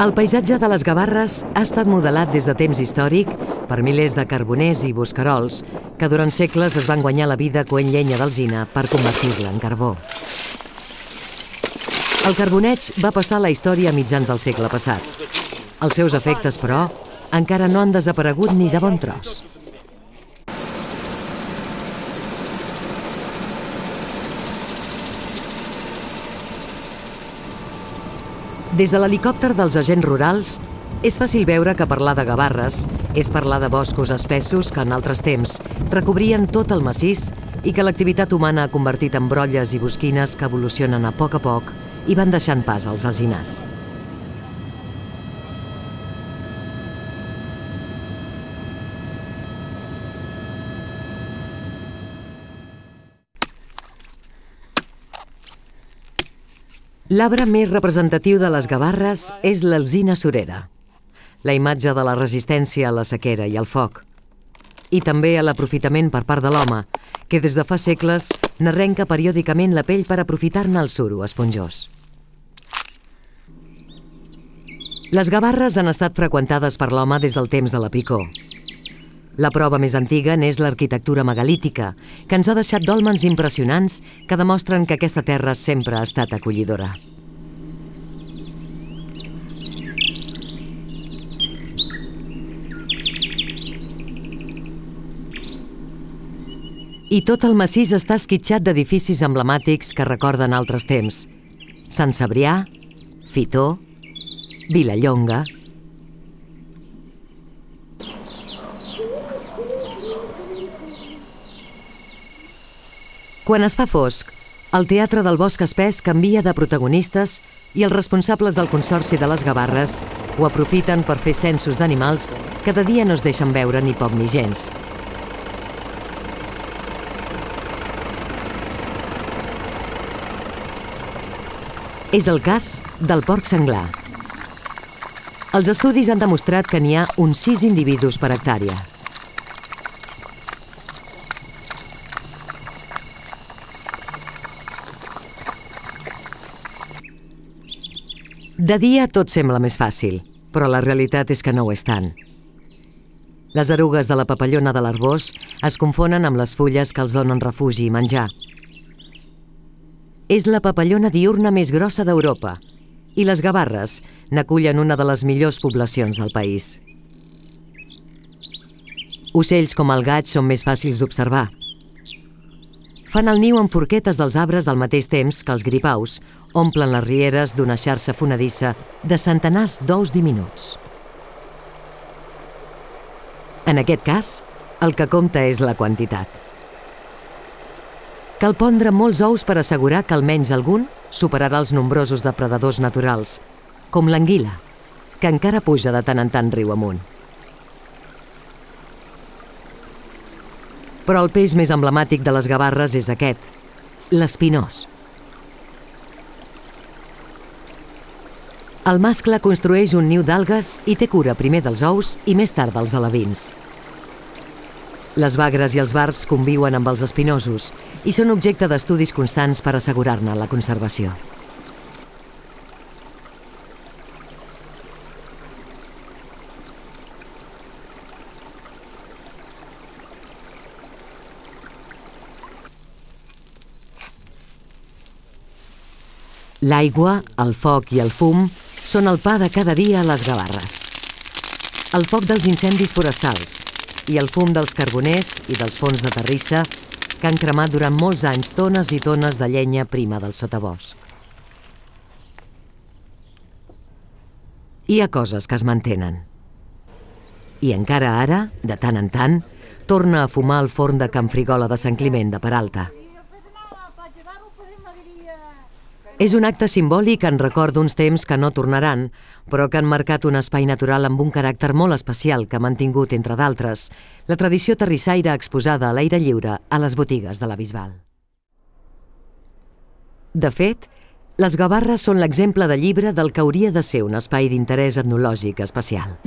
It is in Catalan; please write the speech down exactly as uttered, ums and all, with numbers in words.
El paisatge de les Gavarres ha estat modelat des de temps històric per milers de carboners i bosquerols que durant segles es van guanyar la vida coent llenya d'alzina per convertir-la en carbó. El carboneig va passar a la història a mitjans del segle passat. Els seus efectes, però, encara no han desaparegut ni de bon tros. Des de l'helicòpter dels agents rurals, és fàcil veure que parlar de Gavarres és parlar de boscos espessos que en altres temps recobrien tot el massís i que l'activitat humana ha convertit en brolles i bosquines que evolucionen a poc a poc i van deixant pas als alzinars. L'arbre més representatiu de les Gavarres és l'alzina surera, la imatge de la resistència a la sequera i al foc, i també a l'aprofitament per part de l'home, que des de fa segles n'arrenca periòdicament la pell per aprofitar-ne el suro esponjós. Les Gavarres han estat freqüentades per l'home des del temps de la picor. La prova més antiga n'és l'arquitectura megalítica, que ens ha deixat dòlmens impressionants que demostren que aquesta terra sempre ha estat acollidora. I tot el massís està esquitxat d'edificis emblemàtics que recorden altres temps. Sant Cebrià, Fitó, Vilallonga... Quan es fa fosc, el teatre del bosc espès canvia de protagonistes i els responsables del Consorci de les Gavarres ho aprofiten per fer censos d'animals que de dia no es deixen veure ni poc ni gens. És el cas del porc senglar. Els estudis han demostrat que n'hi ha uns sis individus per hectàrea. De dia tot sembla més fàcil, però la realitat és que no ho és tant. Les erugues de la papallona de l'Arboç es confonen amb les fulles que els donen refugi i menjar. És la papallona diürna més grossa d'Europa i les Gavarres n'acullen una de les millors poblacions del país. Ocells com el gaig són més fàcils d'observar. Fan el niu amb forquetes dels arbres al mateix temps que els gripaus omplen les rieres d'una xarxa fonedissa de centenars d'ous diminuts. En aquest cas, el que compta és la quantitat. Cal pondre molts ous per assegurar que almenys algun superarà els nombrosos depredadors naturals, com l'anguila, que encara puja de tant en tant riu amunt. Però el peix més emblemàtic de les Gavarres és aquest, l'espinós. El mascle construeix un niu d'algues i té cura primer dels ous i més tard dels alevins. Les bagres i els barbs conviuen amb els espinosos i són objecte d'estudis constants per assegurar-ne la conservació. L'aigua, el foc i el fum són el pa de cada dia a les Gavarres. El foc dels incendis forestals i el fum dels carboners i dels forns de terrissa que han cremat durant molts anys tones i tones de llenya prima del sotabosc. Hi ha coses que es mantenen. I encara ara, de tant en tant, torna a fumar el forn de Can Frigola de Sant Climent de Peralta. És un acte simbòlic en record d'uns temps que no tornaran, però que han marcat un espai natural amb un caràcter molt especial que ha mantingut, entre d'altres, la tradició terrissaire exposada a l'aire lliure a les botigues de la Bisbal. De fet, les Gavarres són l'exemple de llibre del que hauria de ser un espai d'interès etnològic especial.